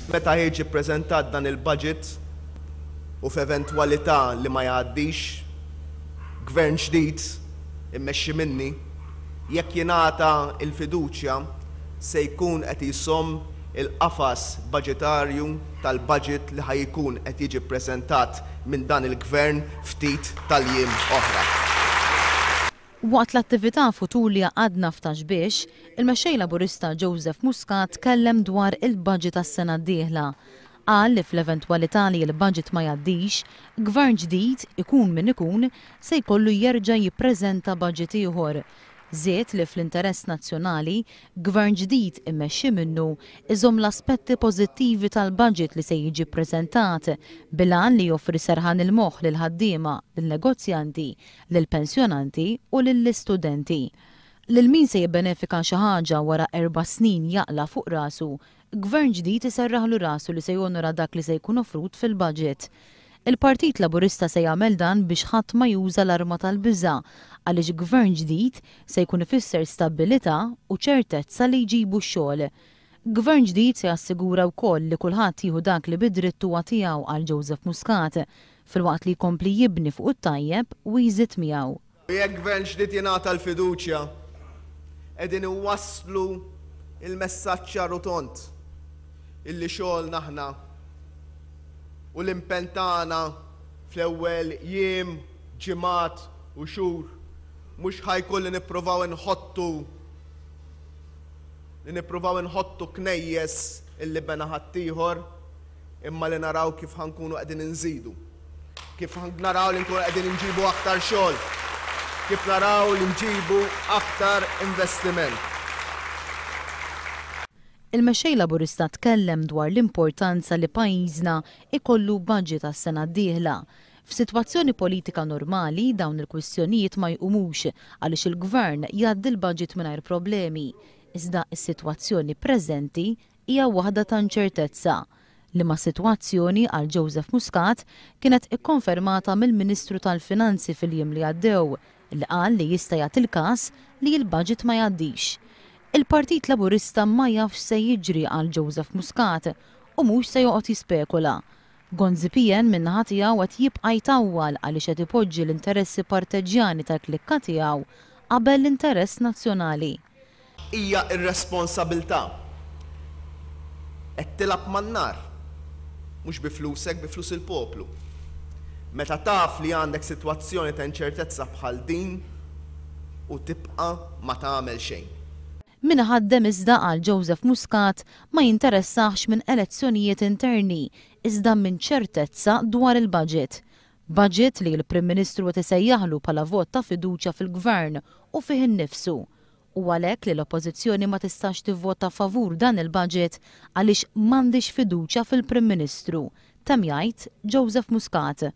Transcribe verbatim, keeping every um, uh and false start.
Meta jiġi ppreżentat dan il-budget u f'eventwalità li ma jgħaddix, gvern ġdid immexxi minni, jekk jingħata l-fiduċja, se jkun qed jsomm il-qafas budgetarju tal-budget li ħa jkun qed jiġi ppreżentat minn dan il-gvern ftit tal-jiem oħra. Waqt l-attività Futur li għadna f'Ta' Xbiex, il-mexxej Laburista Joseph Muscat tkellem dwar il-budget għas-sena d-dieħla. Qal li fl-eventwalità li l-budget ma jgħaddix, gvern ġdid, ikun min ikun, se jkollu jerġa' jippreżenta budget ieħor. Żied li fl-interess nazzjonali, gvern ġdid immexxi minnu iżomm l-aspetti pożittivi tal-budget li se jiġi ppreżentat bil-għan li joffri serħan il-moħħ lill-ħaddiema, lin-negozjanti, lill-pensjonanti u lill-istudenti. Lil min se jibbenefika xi ħaġa wara erba' snin jaqla' fuq rasu, gvern ġdid iserraħlu rasu li se jonora dak li se jkun offrut fil-budget. Il-Partit Laburista se jagħmel dan biex ħadd ma juża l-arma tal-biża' għaliex gvern ġdid se jkun ifisser stabbilità u ċertezza li jġibu x-xogħol. Gvern ġdid se jassigura wkoll li kulħadd jieħu dak li bidritt huwa tiegħu, qal Joseph Muscat, filwaqt li jkompli jibni fuq it-tajjeb u jżid miegħu. Jekk gvern ġdid jingħata l-fiduċja, qegħdin iwasslu il-messaġġ ċar u tond illi xogħolna aħna u l-impenn tagħna fl-ewwel jiem, ġimgħat u xhur mhux ħa jkun li nippruvaw inħottu li nippruvaw inħottu knejjes illi bena ħaddieħor, imma li naraw kif ħa nkunu qegħdin inżidu. Kif naraw li nkunu qegħdin inġibu aktar xogħol, kif naraw li nġibu aktar investiment. Il-mexxej Laburista tkellem dwar l-importanza li pajjiżna ikollu budget għas-sena d-dieħla. F'sitwazzjoni politika normali dawn il-kwistjonijiet ma jqumux għaliex il-gvern jgħaddi l-budget mingħajr problemi. Iżda s-sitwazzjoni preżenti hija waħda ta' inċertezza, liema sitwazzjoni, qal Joseph Muscat, kienet ikkonfermata mill-Ministru tal-Finanzi fil-jiem li għaddew, li qal li jista' jagħti l-każ li l-budget ma jgħaddix. Il-Partit Laburista ma jafx se jiġri, qal Joseph Muscat, u mhux se joqgħod jispekula. Gonzi P N min-naħa tiegħu qed jibqa' jtawwal għaliex qed ipoġġi l-interessi partiġġjani tal-klikka tiegħu qabel l-interess nazzjonali. Hija irresponsabilità. Qed tilgħab man-nar, mhux bi flusek, bi flus il-poplu. Meta taf li għandek sitwazzjoni ta' inċertezza bħal din u tibqa' ma tagħmel xejn. Min ħaddem iżda, qal Joseph Muscat, ma jinteressax minn elezzjonijiet interni, iżda minn ċertezza dwar il-budget. Budget li l-Prim Ministru qed isejjaħlu bħala vot ta' fiduċja fil-gvern u fih innifsu. U għalhekk li l-Oppożizzjoni ma tistax tivvota favur dan il-budget għaliex m'għandix fiduċja fil-Prim Ministru, temm jgħid Joseph Muscat.